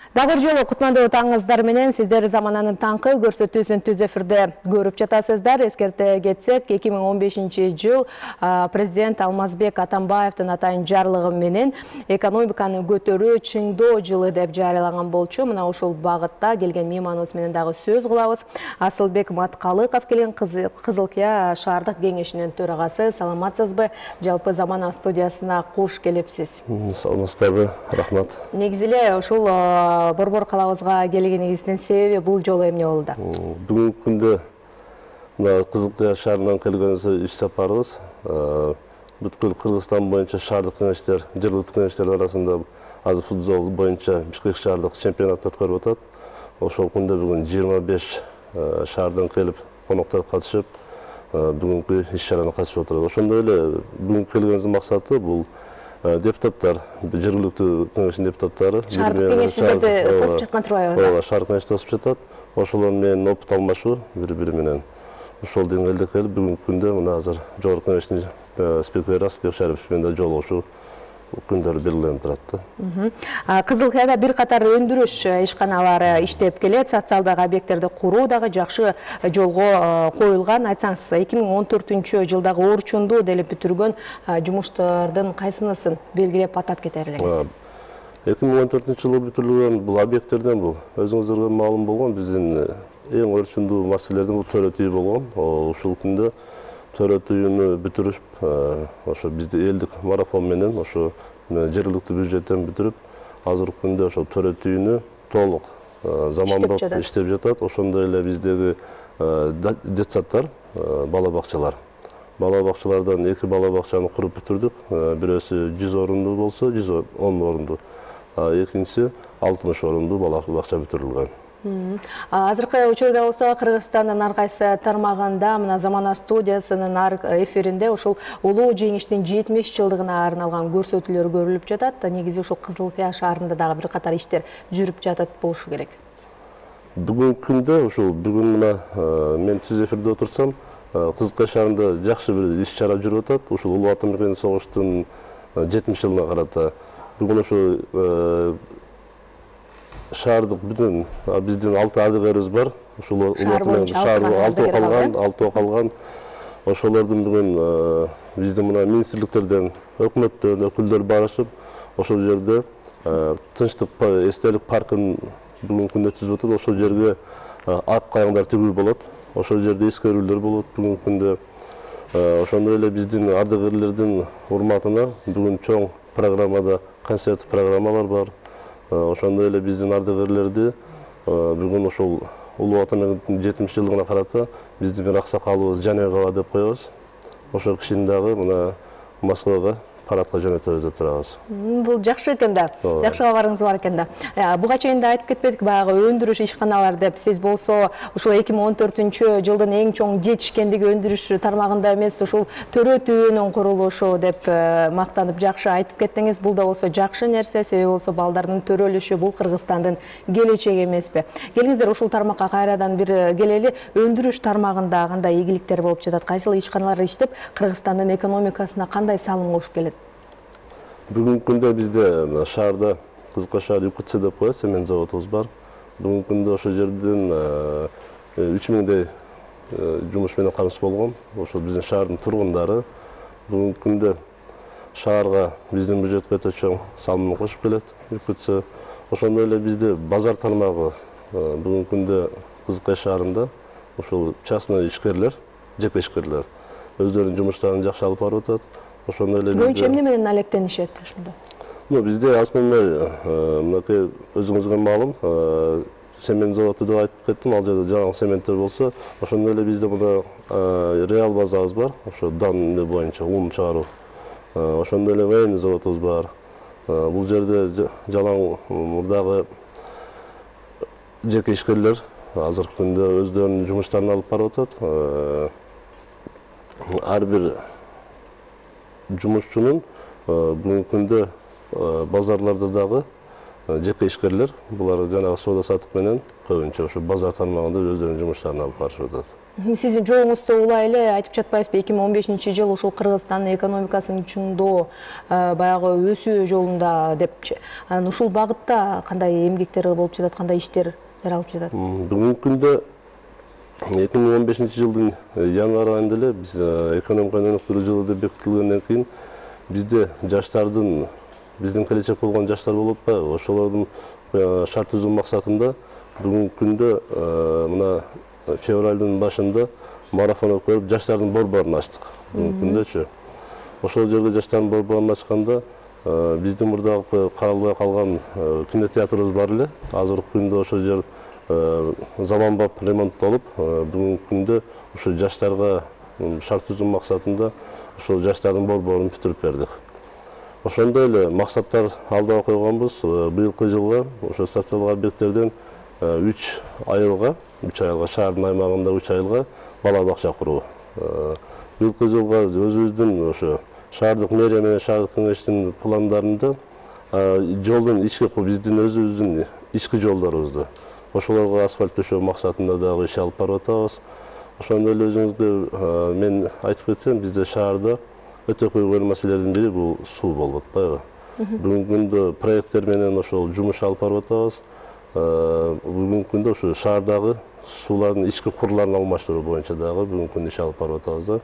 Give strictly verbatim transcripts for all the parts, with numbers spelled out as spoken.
Дагы жолу кутмандуу таңыңыздар менен сиздер замананын таңкы көрсөтүүсүн түз эфирде көрүп жатасыздар. Эскерте кетсек, эки миң он бешинчи жыл президент Алмазбек Атамбаевдин атайын жарлыгы менен экономиканы көтөрүү, чыңдоо жылы деп жарыялаган болчу. Мына ушул багытта келген мейманыбыз менен дагы сөз кылабыз. Асылбек Маткалыков келген Кызылкия шаардык кеңешинин төрагасы. Саламатсызбы? Жалпы Замана студиясына куш келипсиз. Саламатсыздарбы? Рахмат. Негизи эле ушул Борбор калабызга келгениңиздин себеби бул жолу эмне болду? Бүгүнкү күндө мына Кызылкия шаарынан келген иш сапарыбыз бүткүл Кыргызстан боюнча шаардык кеңештер, жергиликтүү кеңештер арасында азыр футбол боюнча Бишкек шаардык чемпионат өткөрүп атат. Ошол күндө бүгүн жыйырма беш шаардан келип, коноктор катышып, бүгүнкү иш-чараны катышып отурат. Ошондой эле бүгүнкү келгенибиздин максаты бул депутаттар, жергиликтүү кеңештин депутаттары шаардык кеңештерди тосуп жаткан турбайбы? Ооба, шаардык кеңеш тосуп жатат. Ошолор менен опыт алмашуу бири-бири менен. Ошол деңгээлде келип, бүгүнкү күндө мына азыр жогорку кеңештин спикери Асылбек Шарипович менен жолугушуу күндөр белгиленип турат да. Кызылкияда бир катар өндүрүш ишканалары иштеп келет, социалдык объекттерди куруу дагы жакшы жолго коюлган. Айтсаңыз, эки миң он төртүнчү жылдагы орчунду делип бүтүргөн жумуштардын кайсынысын белгилеп атап кетер элеңиз? эки миң он төртүнчү жылы бүтүрүлгөн бул объекттерден бул өзүңүздарга маалым болгон биздин эң орчундуу маселелердин бул төрөтүү болгон. Ушул күндө төрөтүүнү бүтүрүп, ошо бизди элдик марафон менен ошо жергиликтүү бюджеттен бүтүрүп, азыркы күндө ошо төрөтүүнү толук заманбап иштеп жатат. Ошондой эле биздеги детсаддар, бала бакчалар. Бала бакчалардан эки бала бакчаны куруп бүтүрдүк. Бирөөсү жүз орунду болсо, жүз он орунду. Экинчиси алтымыш орунду бала бакча бүтүрүлгөн. Азыркы учурда болсо Кыргызстандын ар кайсы тармагында мына Замана студиясынын эфиринде ушул улуу жеңиштин жетимиш жылдыгына арналган көрсөтүүлөр көрүлүп жатат. Негизи ушул Кызылкия шаарында дагы бир катар иштер жүрүп жатат болушу керек. Бүгүнкү күндө ушул бүгүн мына мен түз эфирде отурсам, Кызылкия шаарында жакшы бир иш-чара жүрүп атат. Ушул улуу ата мекендик согуштун жетимиш жылына карата бүгүн ошо шаардык бүтүн биздин алты ардыгерибиз бар. Ушул алты калган, алты калган. Ошолордун бүгүн биздин мына министрликтерден, өкмөттөн өкүлдөр барышып, ошол жерде тынчтык эстелик паркын бүгүнкү күндө түзүп атат. Ошол жерге ак кайыңдар тигүү болот. Ошол жерде эскерүүлөр болот бүгүнкү күндө. Ошондой эле биздин ардыгерлердин урматына бүгүн чоң программада концерт программалар бар. Ошондой эле биздин ардыгерлерди бүгүн ошол улуу ата мекендиктин жетимиш жылдыгына карата биздин бир аксакалыбыз Жаныбек ага деп коебуз. Ошол кишини дагы мына Москвага парадка жөнөтөбүз деп турабыз. Бул жакшы экен да. Жакшы кабарыңыз бар экен да. Буга чейин да айтып кетпедик, баягы өндүрүш ишканалар деп. Сиз болсо ушул эки миң он төртүнчү жылдын эң чоң жетишкендиги өндүрүш тармагында эмес, ушул төрөтүүнүн курулушу деп мактанып жакшы айтып кеттиңиз. Бул да болсо жакшы нерсе, себеби болсо балдардын төрөлүшү бул Кыргызстандын келечеги эмеспи? Келиңиздер ушул тармакка кайрадан бир келели. Өндүрүш тармагында кандай ийгиликтер болуп жатат? Кайсыл ишканалар иштеп Кыргызстандын экономикасына кандай салым кошуп келет? Бүгүнкү күндө бизде шаарда Кызылкия шаар ю ка цэ деп коебуз, цемент заводубуз бар. Бүгүнкү күндө ошол жерден үч миңдей жумуш менен камсыз болгон. Ошол биздин шаардын тургундары бүгүнкү күндө шаарга биздин бюджетке өтө чоң салым кошуп келет ю ка цэ. Ошондой эле бизде базар тармагы бүгүнкү күндө Кызылкия шаарында ушул частный ишкерлер, жеке ишкерлер өздөрүнүн жумуштарын жакшы алып барып атат. Ошондой эле көбүнчө эмне менен алектенишет ушунда? Ну, бизде основной мынакей өзүңүзгө маалым, цемент заводу деп айтып кеттим, ал жерде жаңы цементтер болсо, ошондой эле бизде мына реал базабыз бар, ошо дан боюнча ун чыгаруу. Ошондой эле военный заводубуз бар. Бул жерде жалаң мурдагы жеке ишкерлер азыркы күндө өздөрүнүн жумуштарын алып барып атат. Ар бир жумушчунун бүгүнкү күндө базарларда дагы жеке ишкерлер, булар жанагы соода саттык менен көбүнчө ошо базар тармагында өздөрүнүн жумуштарын алып барышып атат. Сиздин жолуңузда улай эле айтып жатпайсызбы, эки миң он бешинчи жыл ушул Кыргызстандын экономикасынын чыңдоо баягы өсүү жолунда депчи. Анан ушул багытта кандай эмгектер болуп жатат, кандай иштер жаралып жатат? Бүгүнкү күндө эки миң он бешинчи жылдын январь айында эле биз экономиканы өнүктүрүү жылы деп бекитилгенден кийин бизде жаштардын, биздин келечек болгон жаштар болуп атпайбы, ошолордун шарт түзүү максатында бүгүнкү күндө мына февралдын башында марафон өткөрүп жаштардын борборун ачтык. Бүгүнкү күндөчү. Ошол жерде жаштардын борборун ачканда биздин мурдагы каралбай калган кинотеатрыбыз бар эле. Азыркы күндө ошол жер заманбап ремонттолуп, бүгүнкү күндө ушу жаштарга шарт түзүү максатында ошол жаштардын борборун бүтүрүп бердик. Ошондой эле максаттар алдыга койгонбуз. Быйылкы жылга ошо социалдык объекттерден үч айылга, үч айылга шаардын аймагында үч айылга бала бакча куруу. Быйылкы жылга өзүбүздүн ошо шаардык мэрия менен шаардык кеңештин пландарында жолдун ички биздин өзүбүздүн ички жолдорубузду ошолорго асфальт төшөө максатында дагы иш алып барып атабыз. Ошондой эле өзүңүзгө мен айтып кетсем, бизде шаарда өтө көйгөйлүү маселелердин бири бул суу болуп атпайбы. Бүгүнкү күндө проекттер менен ошол жумуш алып барып атабыз. Бүгүнкү күндө ошо шаардагы суулардын ички курларын алмаштыруу боюнча дагы бүгүнкү күндө иш алып барып атабыз да.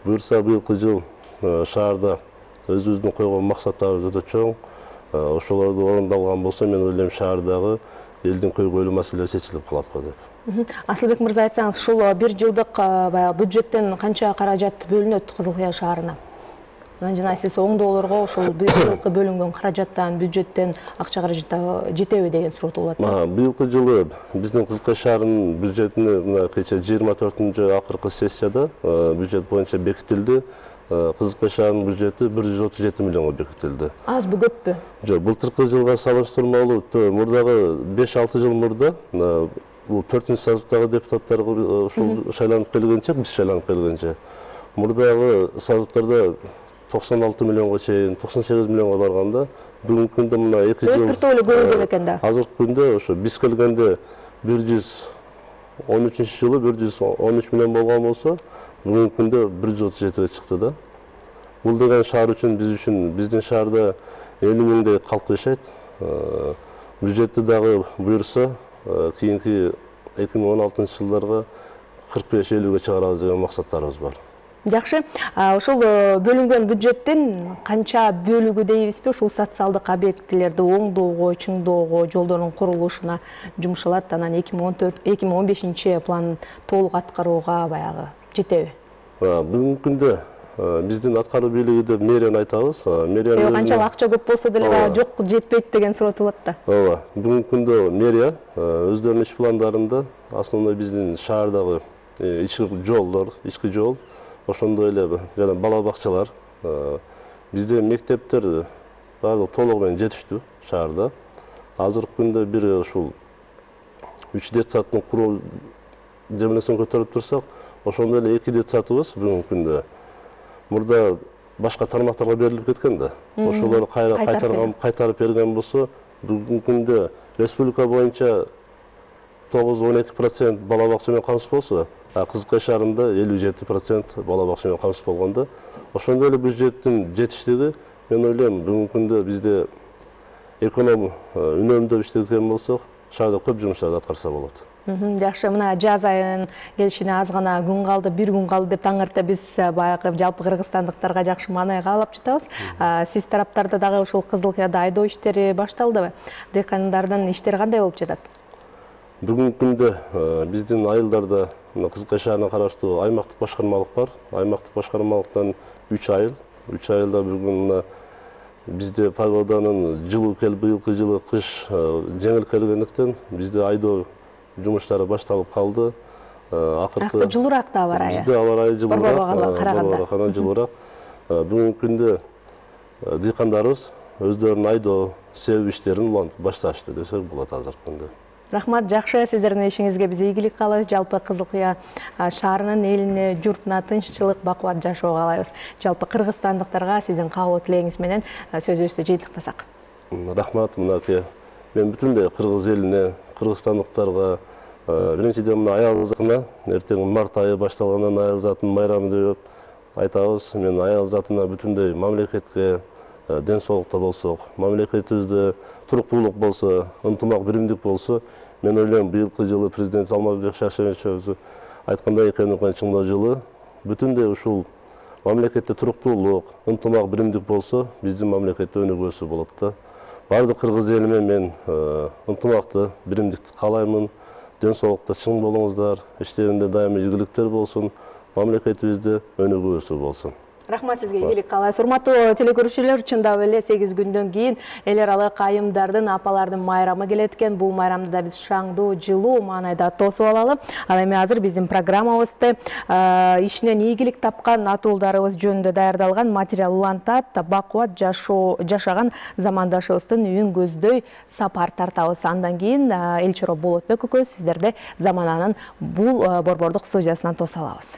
Буюрса быйылкы жыл шаарда өзүбүздүн койгон максаттарыбыз өтө чоң. Ошолорду орундалган болсо, мен ойлойм шаардагы элдин көйгөйлүү маселеси чечилип калат го деп. Асылбек мырза, айтсаңыз, ушул бир жылдык баягы бюджеттен канча каражат бөлүнөт Кызыл Кыя шаарына? Анан жана сиз оңдоолорго ушул быйылкы бөлүнгөн каражаттан, бюджеттен акча каражат жетеби деген суроо болот. Быйылкы жылы биздин Кызыл Кыя шаарынын бюджетине мына кечээ жыйырма төртүнчү акыркы сессияда бюджет боюнча бекитилди. Кызыл Кыя шаарынын бюджети бир жүз отуз жети миллионго бекитилди. Азбы, көппү? Жок, былтыркы жылга салыштырмалуу мурдагы беш алты жыл мурда бул төртүнчү созывдагы депутаттарга ушул шайланып келгенче, биз шайланып келгенче мурдагы созывдарда токсон алты миллионго чейин, токсон сегиз миллионго барганда, бүгүнкү күндө мына эки жыл өтүртө эле көрүлгөн экен да. Азыркы күндө ошо биз келгенде бир жүз он үчүнчү жылы бир жүз он үч миллион болгон болсо, бүгүнкү күндө бир жүз отуз жетиге чыкты да. Бул деген шаар үчүн, биз үчүн, биздин шаарда элүү миңдей калк жашайт. Бюджетти дагы буюрса, кийинки эки миң он алтынчы жылдарга кырк беш элүүгө чыгарабыз деген максаттарыбыз бар. Жакшы. Ошол бөлүнгөн бюджеттин канча бөлүгү дейбизби ушул социалдык объектилерди оңдоого, чыңдоого, жолдордун курулушуна жумшалат, анан эки миң он төрт эки миң он бешинчи план толук аткарууга баягы жетеби? Бүгүнкү күндө биздин аткаруу бийлиги деп мэрияны айтабыз. Мэрия канчалык акча көп болсо деле жок, жетпейт деген суроо болот да. Ооба. Бүгүнкү күндө мэрия өздөрүнүн иш пландарында основной биздин шаардагы ички жолдор, ички жол, ошондой эле жана бала бакчалар, бизде мектептер баардыгы толугу менен жетиштүү шаарда. Азыркы күндө бир ушул үч детсадтын куруу жемелесин көтөрүп турсак, ошондой эле эки детсадыбыз бүгүнкү күндө мурда башка тармактарга берилип кеткен да. Ошолорду кайтарып берген болсо, бүгүнкү күндө республика боюнча тогуз он эки процент бала бакча менен камсыз болсо, Кызыл Кыя шаарында элүү жети процент бала бакча менен камсыз болгондо, ошондой эле бюджеттин жетиштиги, мен ойлойм, бүгүнкү күндө бизде эконом үнөмдөп иштеген болсок, шаарда көп жумуштарды аткарса болот. Жакшы, мына жаз айынын келишине аз гана күн калды, бир күн калды деп таң эрте биз баягы жалпы кыргызстандыктарга жакшы маанай каалап жатабыз. Сиз тараптарда дагы ушул Кызыл Кыяда айдоо иштери башталдыбы? Дыйкандардын иштери кандай болуп жатат? Бүгүнкү күндө биздин айылдарда Кызыл Кыя шаарына караштуу аймактык башкармалык бар. Аймактык башкармалыктан үч айыл, үч айылда бүгүн бизде погоданын жылуу келип, быйылкы жылы кыш жеңил келгендиктен бизде айдоо жумуштары башталып калды. Акыркы жылуураак да аба ырайы. Бизде аба ырайы жылуураак, караганда жылуураак. Бүгүнкү күндө дыйкандарыбыз өздөрүнүн айдоо себеп иштерин улантып башташты десек болот азыркы күндө. Рахмат, жакшы, сиздердин ишиңизге биз ийгилик каалайбыз. Жалпы Кызыл Кыя шаарынын элине, журтуна тынччылык, бакубат жашоо каалайбыз. Жалпы кыргызстандыктарга сиздин каалоо тилегиңиз менен сөзүбүздү жыйынтыктасак. Рахмат, мынакей мен бүтүндөй кыргыз элине, кыргызстандыктарга, Биринчиден мына аял затына эртең март айы башталгандан аял затынын майрамы деп айтабыз. Мен аял затына бүтүндөй мамлекетке ден соолукта болсок, мамлекетибизде туруктуулук болсо, ынтымак биримдик болсо, мен ойлойм быйылкы жылы президент Алмазбек Шаршеметович айткандай экен чыңдоо жылы бүтүндөй ушул мамлекетте туруктуулук, ынтымак биримдик болсо, биздин мамлекетте өнүгүүсү болот да. Бардык кыргыз элиме мен ынтымакты, биримдикти каалаймын. Ден соолукта чың болуңуздар, иштеринде дайыма ийгиликтер болсун, мамлекетибизде өнүгүүсү болсун. Рахмат сизге, ийгилик каалайбыз. Урматтуу телекөрүүчүлөр, чындап эле сегиз күндөн кийин эл аралык айымдардын, апалардын майрамы келет экен. Бул майрамды да биз шаңдуу, жылуу маанайда тосуп алалы. Ал эми азыр биздин программабызды ишинен ийгилик тапкан атуулдарыбыз жөнүндө даярдалган материал улантат. Бакубат жашаган замандашыбыздын үйүн көздөй сапар тартабыз. Андан кийин Элчора Болотбек экөөбүз сиздерди замананын бул борбордук студиясынан тосуп алабыз.